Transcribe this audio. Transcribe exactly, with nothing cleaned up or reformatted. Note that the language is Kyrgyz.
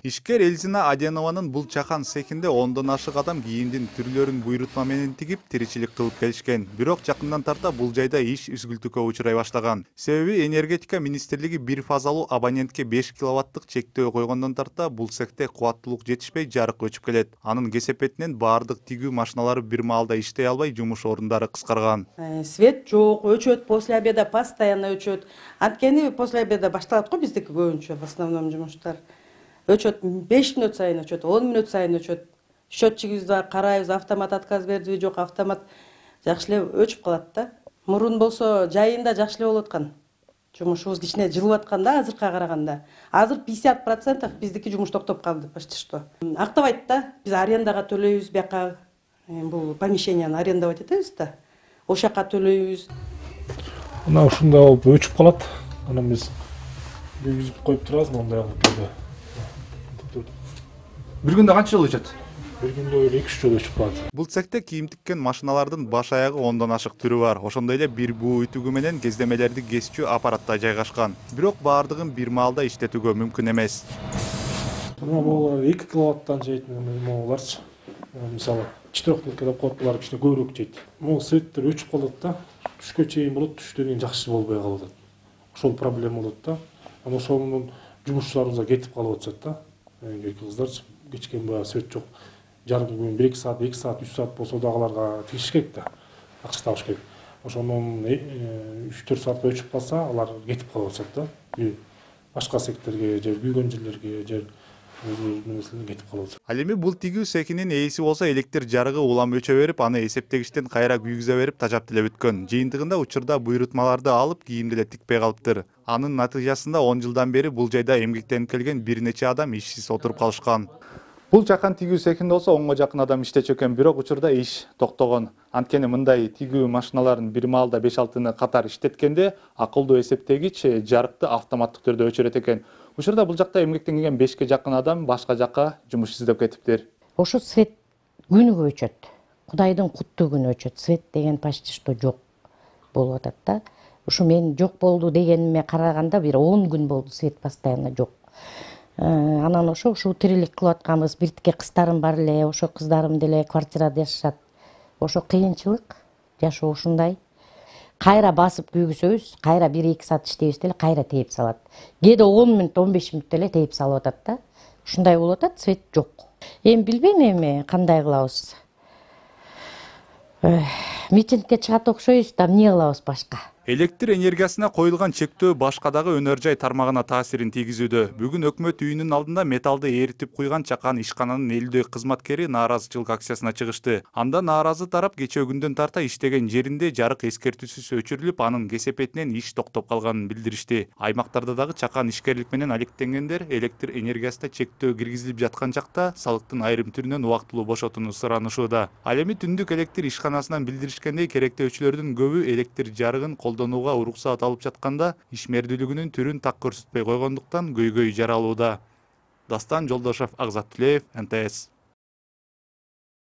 Ишкер Элзина Аденованын бул чакан цехинде ондон ашык адам кийимдин түрлөрүн буйрутма менен тигип тиричилик кылып келишкен. Бирок жакындан тарта бул жайда иш үзгүлтүккө учурай баштаган. Себеби энергетика министрлиги бир фазалуу абонентке беш киловаттык чектөө койгондон тарта бул цехте кубаттуулук жетишпей жарык өчүп келет. Анын кесепетинен баардык тигүү машиналары бир маалда иштей албай жумуш орундары кыскарган. Свет жок, өчөт, после обеда постоянно өчөт. Анткени после обеда башталат го биздики көбүнчө в основном жумуштар. Өчөт беш мүнөт сайын өчөт, он мүнөт сайын өчөт. Счетчигибизди карайбыз, автомат отказ бердиби, жок, автомат жакшы эле өчүп калат да. Мурун болсо жайында жакшы эле болуп аткан. Жумушубуз кичине жылып аткан да азыркыга караганда. Азыр пятьдесят процентов биздики жумуш токтоп калды почти что. Актабайт да. Биз арендага төлөйбүз, бияка бул помещенияны арендовать этебиз да. Ошол жака төлөйбүз. Мына ушундай болуп өчүп калат. Анан биз күйгүзүп коюп турабыз мондай кылып. Бир күндө канча жолу өчөт? Бир күндө эки үч жолу өчүп калат. Бул цехте кийим тиккен машиналардын баш аягы ондон ашык түрү бар. Ошондой эле бир буу үтүгү менен кездемелерди кесчү аппаратта жайгашкан. Бирок баардыгын бир маалда иштетүүгө мүмкүн эмес. Мына бул эки киловаттан жейтин могуларчы. Мисалы четырехтилке деп коет, булар кичине көбүрөөк жейт. Могу светтер өчүп калат да. Түшкө чейин болот, түштөн кийин жакшы болбой калып атат. Ошол проблема болот да. Анан ошонун жумушчуларыбызга кетип калып атышат да. Эки кыздарчы кечкен баягы свет жок. Жарым күн бир эки саат, эки саат, үч саат болсо дагыларга тигиш керек да. Акча табыш керек. Ошонун үч төрт саат өчүп калса, алар кетип калып атышат да. Башка секторге, же күйгөн жерлерге, же кетип калат. Ал эми бул тигүү цехинин ээси болсо электр жарыгы улам өчө берип, аны эсептегичтен кайра күйгүзө берип тажап деле бүткөн. Жыйынтыгында учурда буйрутмаларды алып, кийимди эле тикпей калыптыр. Анын натыйжасында он жылдан бери бул жайда эмгектенип келген бир нече адам ишсиз отуруп калышкан. Бул чакан тигүү цехинде болсо онго жакын адам иштечү экен, бирок учурда иш токтогон. Анткени мындай тигүү машиналарын бир маалда беш алтыны катар иштеткенде акылдуу эсептегич жарыкты автоматтык түрдө өчүрөт экен. Учурда бул жакта эмгектенген бешке жакын адам башка жакка жумуш издеп кетиптир. Ошо свет күнүгө өчөт. Кудайдын куттуу күнү өчөт. Свет деген почти что жок болуп атат да. Ушу мен жок болду дегениме караганда бир он күн болду свет постоянно жок. Анан ошо ушул тирилик кылып атканбыз. Биртике кыздарым бар эле, ошо кыздарым деле квартирада жашашат. Ошо кыйынчылык, жашоо ушундай. Кайра басып күйгүсөбүз, кайра бир эки саат иштейбиз деле кайра тээп салат. Кээде он мүнөт, он беш мүнөт деле тээп салып атат да. Ушундай болуп атат, свет жок. Эми билбейм эми кандай кылабыз. Митингге чыгат окшойбуз да, эмне кылабыз башка? Электр энергиясына коюлган чектөө башка дагы өнөр жай тармагына таасирин тийгизүүдө. Бүгүн өкмөт үйүнүн алдында металлды эритип куйган чакан ишкананын элүүдөй кызматкери нааразычылык акциясына чыгышты. Анда нааразы тарап кечээ күндөн тарта иштеген жеринде жарык эскертүүсүз өчүрүлүп, анын кесепетинен иш токтоп калганын билдиришти. Аймактарда дагы чакан ишкерлик менен алектенгендер электр энергиясына чектөө киргизилип жаткан жакта салыктын айрым түрүнөн убактылуу бошотууну суранышууда. Ал эми түндүк электр ишканасынан билдиришкендей, керектөөчүлөрдүн көбү электр жарыгын колдонууга уруксаат алып жатканда ишмердүүлүгүнүн түрүн так көрсөтпөй койгондуктан көйгөй жаралууда. Дастан Жолдошев, Акзат Тилеев, эн тэ эс.